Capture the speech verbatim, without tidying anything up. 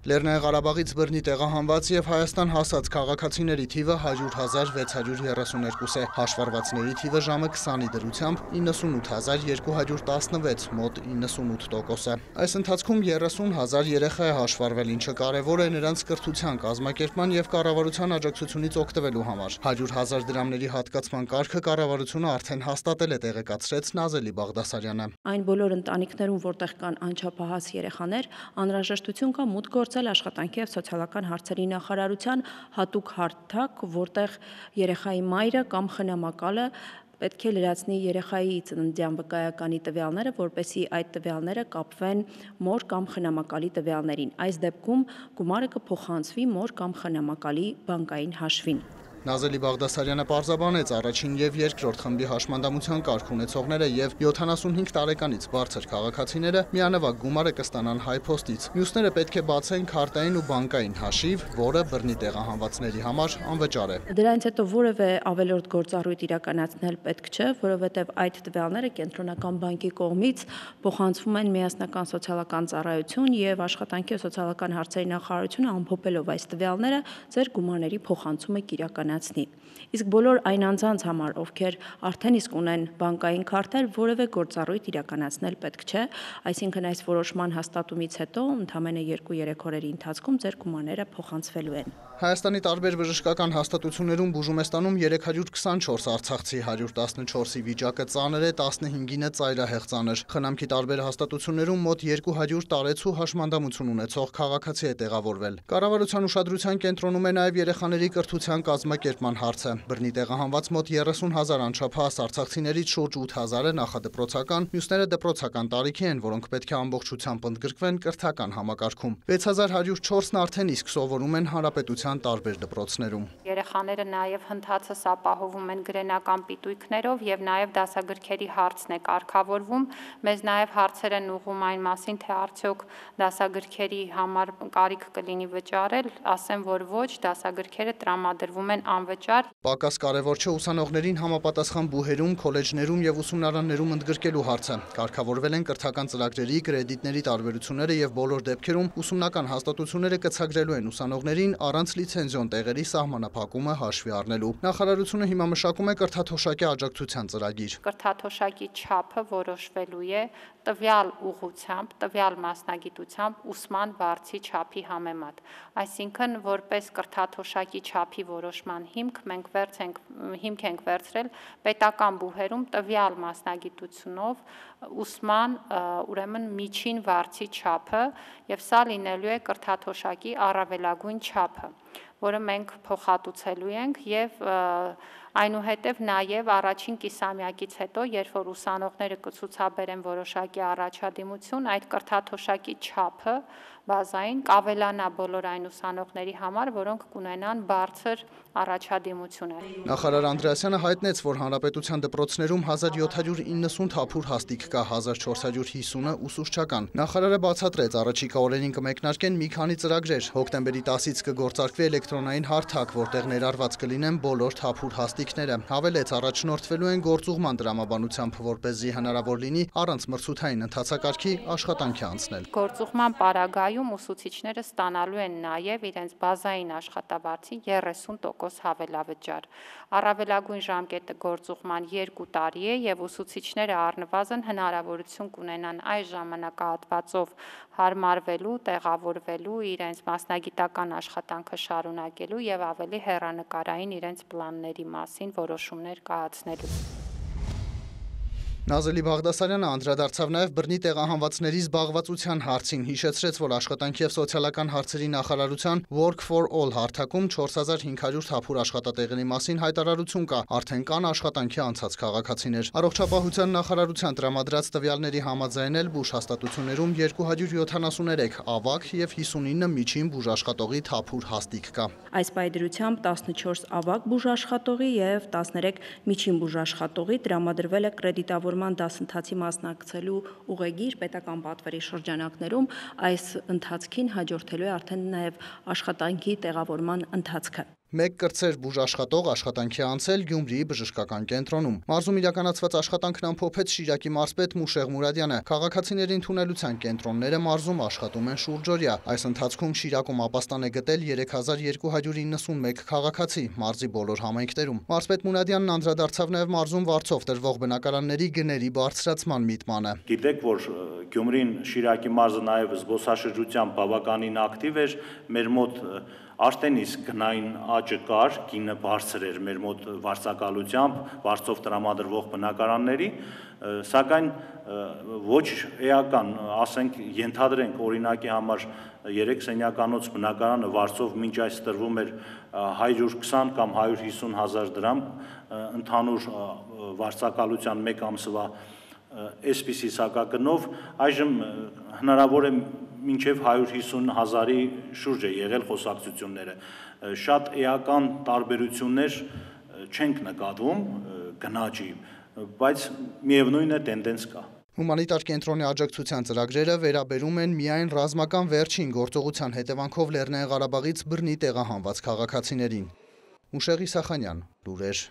Լեռնային Ղարաբաղից բռնի տեղահանված եւ Հայաստան հասած քաղաքացիների թիվը հարյուր հազար վեց հարյուր երեսուներկու է, հաշվառվածների թիվը ժամը քսանի դրությամբ իննսունութ հազար երկու հարյուր տասնվեց, մոտ իննսունութ տոկոս է։ Այս ընթացքում երեսուն հազար երեխա է հաշվառվել, ինչը կարևոր է նրանց կրթության, կազմակերպման եւ կառավարության աջակցությունից օգտվելու համար։ հարյուր հազար դրամների հատկացման կարգը կառավարությունը արդեն հաստատել է, տեղեկացրեց Նազելի Բաղդասարյանը։ Այն բոլոր ընտանիքներում, որտեղ կան անչափահաս երեխաներ, անհրաժեշտություն կա մուտք գործել աշխատանքի եւ սոցիալական հարցերի նախարարության հատուկ հարթակ, որտեղ երեխայի մայրը կամ խնամակալը պետք է լրացնի երեխայի ծննդյան վկայականի տվյալները, որպեսզի այդ տվյալները կապվեն մոր կամ խնամակալի տվյալներին։ Այս դեպքում գումարը կփոխանցվի մոր կամ խնամակալի բանկային հաշվին։ Նազելի Բաղդասարյանը պարզաբանեց առաջին եւ երկրորդ խմբի հաշմանդամության կարգ ունեցողները եւ յոթանասունհինգ տարեկանից բարձր քաղաքացիները միանվագ գումարը կստանան հայփոստից։ Մյուսները պետք է բացեն քարտային ու բանկային հաշիվ, որը բռնի տեղահանվածների համար անվճար է։ Դրանից հետո որևէ ավելորդ գործառույթ իրականացնել պետք չէ, որովհետեւ այդ տվյալները կենտրոնական բանկի կողմից փոխանցվում են միասնական սոցիալական ծառայություն եւ աշխատանքի եւ սոցիալական հարցերի նախարարությունը ամփոփելով այս տվյալները ձեր գումարների փոխանցումը կիրականացնի։ Իսկ բոլոր այն անձանց համար, ովքեր արդեն իսկ ունեն բանկային քարտեր, որևէ գործառույթ իրականացնել պետք չէ, այսինքն այս որոշման հաստատումից հետո ընդամենը երկու-երեք օրերի ընթացքում ձեր գումարները փոխանցվելու են։ Հայաստանի տարբեր բժշկական հաստատություններում բուժում է ստանում երեք հարյուր քսանչորս արցախցի, հարյուր տասնչորսի վիճակը ծանր է, տասնհինգինը ծայրահեղ ծանր։ Խնամքի տարբեր հաստատություններում մոտ երկու հարյուր տարեցու հաշմանդամություն ունեցող քաղաքացի է տեղավորվել։ Կառավարության ուշադրության կենտրոնում է նաև երեխաների կրթության կազմակերպման հարցը։ Բռնի տեղահանված մոտ երեսուն հազար անչափահաս արցախցիներից շուրջ ութ հազարը նախադպրոցական, մյուսները դպրոցական տարիքի են, որոնք պետք է ամբողջությամբ ընդգրկվեն կրթական համակարգում։ վեց հազար հարյուր չորսն արդեն իսկ սովորում են հանրապետության տարբեր դպրոցներում։ Երեխաները նաև հնդածս ապահովում են գրենական պիտույքներով եւ նաև դասագրքերի հարցն է կարգավորվում։ Մեզ նաև հարցեր են ուղղում այն մասին, թե արդյոք դասագրքերի համար կարիք կլինի վճարել, ասեմ, որ ոչ, դասագրքերը տրամադրվում են անվճար։ Պակաս կարևոր չէ ուսանողներին համապատասխան բուհերում, քոլեջներում եւ ուսումնարաններում ընդգրկելու հարցը։ Կարգավորվել են կրթական ծրագրերի, կրեդիտների տարբերությունները եւ բոլոր դեպքերում ուսումնական հաստատությունները կցագրելու են ուսանողներին առանց լիցենզիոն տեղերի սահմանափակումը հաշվի առնելու։ Նախարարությունը հիմա մշակում է կրթաթոշակի աջակցության ծրագիր։ Կրթաթոշակի չափը որոշվելու է տվյալ ուղղությամբ, տվյալ մասնագիտությամբ ուսման վարձի չափի համեմատ։ Այսինքն, որպես կրթաթոշակի չափի որոշման հիմք մենք վերց ենք, հիմք ենք վերցրել պետական բուհերում տվյալ մասնագիտությունով ուսման ուրեմն միջին վարձի չափը եւ սա լինելու է կրթաթոշակի առավելագույն չափը, որը մենք փոխհատուցելու ենք եւ այնուհետև նաև առաջին կիսամյակից հետո, երբ որ ուսանողները կցուցաբերեն որոշակի առաջադիմություն, այդ կրթաթոշակի չափը բազային կավելանա բոլոր այն ուսանողների համար, որոնք կունենան բարձր առաջադիմություն։ Նախարար Անդրեասյանը հայտնեց, որ հանրապետության դպրոցներում հազար յոթ հարյուր իննսուն թափուր հաստիք կա, հազար չորս հարյուր հիսունը ուսուցչական։ Նախարարը բացատրեց, առաջիկա օրերին կմեկնարկեն մի քանի ծրագրեր։ Հոկտեմբերի տասից կգործարկվի էլեկտրոնային հարթակ, որտեղ ներառված կլինեն բոլոր թափուր հաստիքները։ Հավելեց, առաջնորդվելու են գործուղման տրամաբանությամբ, որպեսզի հնարավոր լինի առանց մրցութային ընթացակարգի աշխատանքի անցնել։ Գործուղման պարագայում ուսուցիչները ստանալու են նաև իրենց բազային աշխատավարձի երեսուն տոկոս հավելավճար։ Առավելագույն ժամկետը գործուղման երկու տարի է եւ ուսուցիչները առնվազն հնարավորություն կունենան այս ժամանակահատվածով հարմարվելու, տեղավորվելու, իրենց մասնագիտական աշխատանքը շարունակելու եւ ավելի հեռանկարային իրենց պլանների մասին որոշումներ կայացնելու։ Նազելի Բաղդասարյանը անդրադարձավ նաև բռնի տեղահանվածների զբաղվածության հարցին, հիշեցրեց, որ աշխատանքի եւ սոցիալական հարցերի նախարարության Work for All հարթակում չորս հազար հինգ հարյուր թափուր աշխատատեղերի մասին հայտարարություն կա, արդեն կան աշխատանքի անցած քաղաքացիներ։ Առողջապահության նախարարության տրամադրած տվյալների համաձայն էլ բուժ հաստատություններում երկու հարյուր յոթանասուներեք ավագ եւ հիսունինը միջին բուժաշխատողի թափուր հաստիք կա։ Այս պայդրությամբ տասնչորս ավագ բուժաշխատողի եւ տասներեք միջին բուժաշխատողի տրամադրվել է կրեդիտավորման դասընթացի մասնակցելու ուղեգիր պետական պատվերի շրջանակներում, այս ընթացքին հաջորդելու է արդեն նաև աշխատանքի տեղավորման ընթացքը։ Մեկ կրտսեր բուժաշխատող աշխատանքի անցել Գյումրիի բժշկական կենտրոնում։ Մարզում իրականացված աշխատանքն ամփոփեց Շիրակի մարզպետ Մուշեղ Մուրադյանը։ Քաղաքացիների ընդունելության կենտրոնները մարզում աշխատում են շուրջօրյա։ Այս ընթացքում Շիրակում ապաստան է գտել երեք հազար երկու հարյուր իննսունմեկ քաղաքացի մարզի բոլոր համայնքներում։ Մարզպետ Մուրադյանն անդրադարձավ նաև մարզում վարձով տրվող բնակարանների գների բարձրացման միտմանը։ Գիտեք, որ Գյումրին Շիրակի մարզը նաև զբոսաշրջությամբ բավականին ակտիվ էր, մեր մոտ արդեն իսկ գնային աճը կար, գինը բարձր էր մեր մոտ վարձակալությամբ, վարձով տրամադրվող բնակարանների, սակայն ոչ էական, ասենք, ենթադրենք օրինակի համար երեք սենյականոց բնակարանը վարձով մինչ այս տրվում էր հարյուր քսան կամ հարյուր հիսուն հազար դրամ, ընդհանուր վարձակալության մեկ ամսվա այսպիսի սակագնով, այժմ հնարավոր է մինչև հարյուր հիսուն հազարի շուրջ է եղել խոսակցությունները։ Շատ էական տարբերություններ չենք նկատվում գնաճի, բայց միևնույն է տենդենս կա։ Հումանիտար կենտրոնի աջակցության ծրագրերը վերաբերում են միայն ռազմական վերջին գործողության հետևանքով Լեռնային Ղարաբաղից բռնի տեղահանված քաղաքացիներին։ Մուշեղ Իսախանյան, լուրեր։